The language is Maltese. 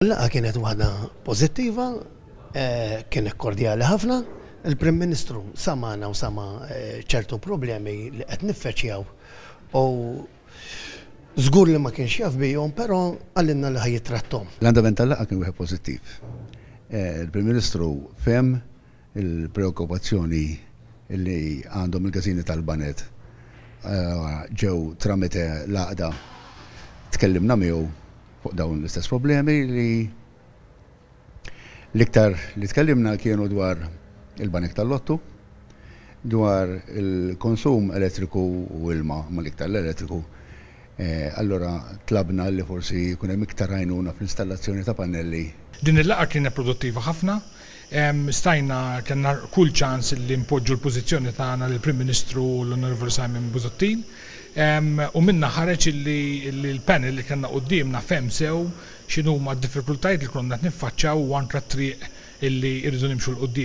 Il-laqgħa kienet waħda pożittiva, kienet kordjali ħafna. Il-Prim Ministru samana u sama ċertu problemi li qed niffaċċjaw u żgur li ma kienx jaf bihom, però qalilna li ħa jittratthom. L-andament tal-laqgħa kien wieħed pożittiv. Il-Prim Ministru fehem il-preokkupazzjoni li għandhom il-każini tal-baned ġew tramite l-għaqda tkellimna miegħu fuq dawn l-istess problemi li l-iktar li tkellimna kienu dwar il-banek tal-lottu, dwar il-konsum elettriku u ilma, ma l-iktar l-elettriku. Allura tlabna li forsi jkun hemm iktar għajnuna fl-installazzjoni ta' pannelli. Din il-laqgħa kienet produttiva ħafna. Stajna kellna kull ċans li npoġġu l-pożizzjoni tagħna lill-Prim Ministru u l-Onorevoli Simon Busuttil. U minnha ħareġ illi l-panel li kellna quddiemna fehem sew x'inhuma d-diffikultajiet li konna qed niffaċċjaw u anke t-triq illi rridu nimxu 'l quddiem.